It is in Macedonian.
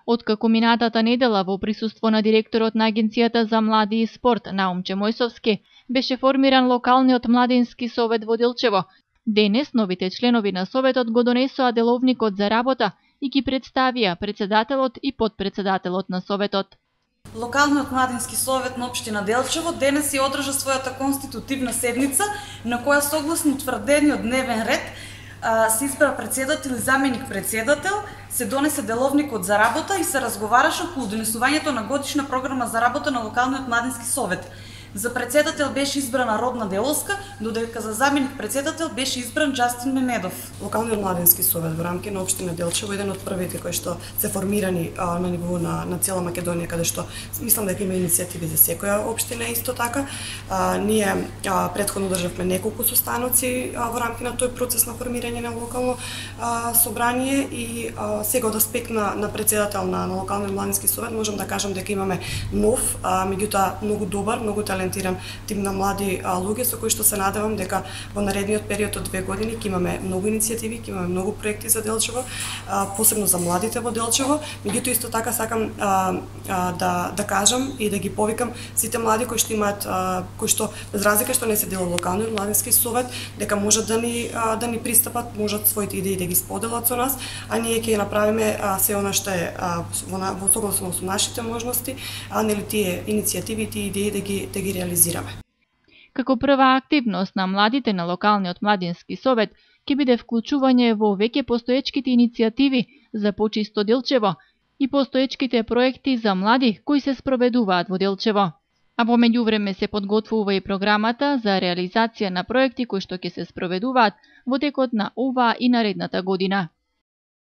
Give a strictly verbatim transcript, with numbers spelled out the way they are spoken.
Откако минатата недела во присуство на директорот на Агенцијата за млади и спорт Наумче Мојсовски беше формиран локалниот младински совет во Делчево, денес новите членови на советот го донесоа деловникот за работа и ги представија председателот и потпредседателот на советот. Локалниот младински совет на општина Делчево денес ја одржа својата конститутивна седница, на која согласно утврдениот дневен ред се избра председател и заменик председател, се донесе деловникот за работа и се разговараше околу донесувањето на годишна програма за работа на локалниот младински совет. За председател беше избрана Родна Делоска, додека за заменик председател беше избран Джастин Мемедов. Локалниот младински совет во рамки на општина Делчево е еден од првите кои што се формирани а, на ниво на, на цела Македонија, каде што мислам дека има иницијативи за секоја општина исто така. А, ние а, претходно државме неколку состаноци а, во рамки на тој процес на формирање на локално а, собрание и а, сега од аспект на, на председател на, на локалниот младински совет можам да кажам дека имаме нов, а, меѓутоа многу добар, многу талентиран тим на млади а, луѓе со кои што се надевам дека во наредниот период од две години ќе имаме многу иницијативи, ќе имаме многу проекти за Делчево, а, посебно за младите во Делчево. Меѓутоа исто така сакам а, а, да да кажам и да ги повикам сите млади кои што имаат а, кои што без разлика што не се дел од локалниот младински совет, дека можат да ни а, да ни пристапат, можат своите идеи да ги споделат со нас, а ние ќе направиме а, се она што е а, во, во согласно со нашите можности, а нели тие иницијативи и тие идеи да ги да ги реализираме. Како прва активност на младите на локалниот младински совет ќе биде вклучување во веќе постоечките иницијативи за почисто Делчево и постоечките проекти за млади кои се спроведуваат во Делчево. А во меѓувреме се подготвува и програмата за реализација на проекти кои што ќе се спроведуваат во текот на оваа и наредната година.